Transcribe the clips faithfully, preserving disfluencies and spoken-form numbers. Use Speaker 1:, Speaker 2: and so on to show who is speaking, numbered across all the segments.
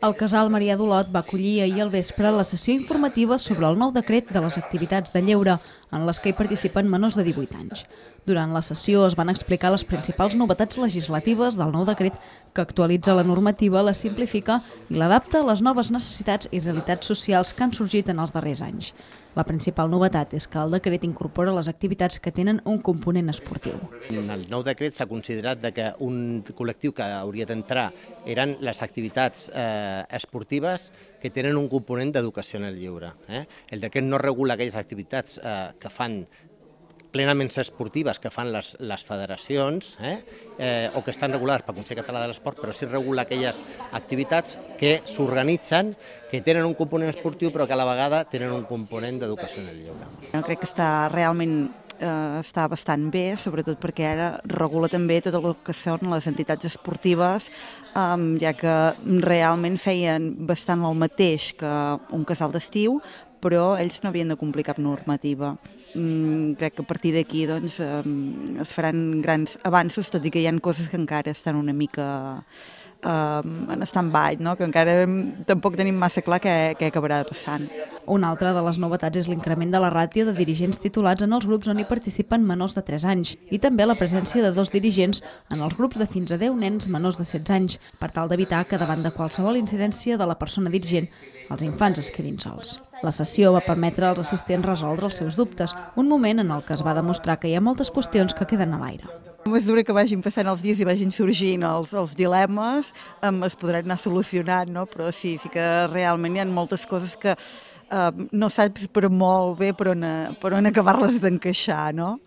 Speaker 1: El casal Marià d'Olot va acollir ahir al vespre la sessió informativa sobre el nou decret de les activitats de lleure, en les que hi participen menors de divuit anys. Durant la sessió es van explicar les principals novetats legislatives del nou decret, que actualitza la normativa, la simplifica i l'adapta a les noves necessitats i realitats socials que han sorgit en els darrers anys. La principal novetat és que el decret incorpora les activitats que tenen un component esportiu.
Speaker 2: En el nou decret s'ha considerat que un col·lectiu que hauria d'entrar eren les activitats eh, esportives que tenen un component d'educació en el lleure. Eh? El decret no regula aquelles activitats eh, que fan plenament esportives que fan les, les federacions eh? Eh, o que estan regulades pel Consell Català de l'Esport, però sí regula aquelles activitats que s'organitzen, que tenen un component esportiu però que a la vegada tenen un component d'educació en el lleure.
Speaker 3: Jo crec que està realment eh, està bastant bé, sobretot perquè ara regula també tot el que són les entitats esportives, um, ja que realment feien bastant el mateix que un casal d'estiu, però ells no havien de complir cap normativa. Mm, crec que a partir d'aquí doncs, um, es faran grans avanços, tot i que hi ha coses que encara estan una mica um, en stand-by, no? Que encara tampoc tenim massa clar què, què acabarà passant.
Speaker 1: Una altra de les novetats és l'increment de la ràtio de dirigents titulats en els grups on hi participen menors de tres anys i també la presència de dos dirigents en els grups de fins a deu nens menors de setze anys, per tal d'evitar que davant de qualsevol incidència de la persona dirigent els infants es quedin sols. La sessió va permetre als assistents resoldre els seus dubtes, un moment en el que es va demostrar que hi ha moltes qüestions que queden a l'aire.
Speaker 3: A mesura que vagin passant els dies i vagin sorgint els, els dilemes, um, es podran anar solucionant, no? Però sí, sí que realment hi ha moltes coses que um, no saps per molt bé per on, per on acabar-les d'encaixar, no?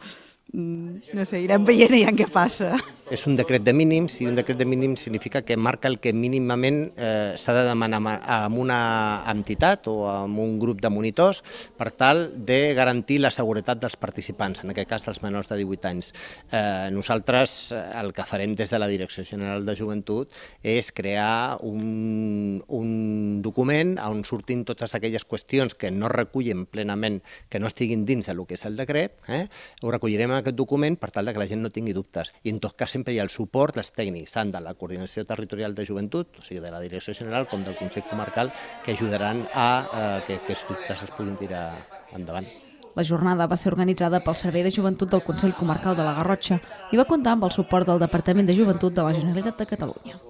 Speaker 3: No sé, irem veient ja què passa.
Speaker 2: És un decret de mínims i un decret de mínims significa que marca el que mínimament eh, s'ha de demanar a una entitat o a un grup de monitors per tal de garantir la seguretat dels participants, en aquest cas dels menors de divuit anys. Eh, nosaltres el que farem des de la Direcció General de Joventut és crear un, un document on surtin totes aquelles qüestions que no recullen plenament, que no estiguin dins del que és el decret, eh? Ho recollirem en aquest document per tal que la gent no tingui dubtes. I en tot cas sempre hi ha el suport dels tècnics, tant de la Coordinació Territorial de Joventut, o sigui de la Direcció General, com del Consell Comarcal, que ajudaran a eh, que aquests dubtes es puguin tirar endavant.
Speaker 1: La jornada va ser organitzada pel Servei de Joventut del Consell Comarcal de la Garrotxa i va comptar amb el suport del Departament de Joventut de la Generalitat de Catalunya.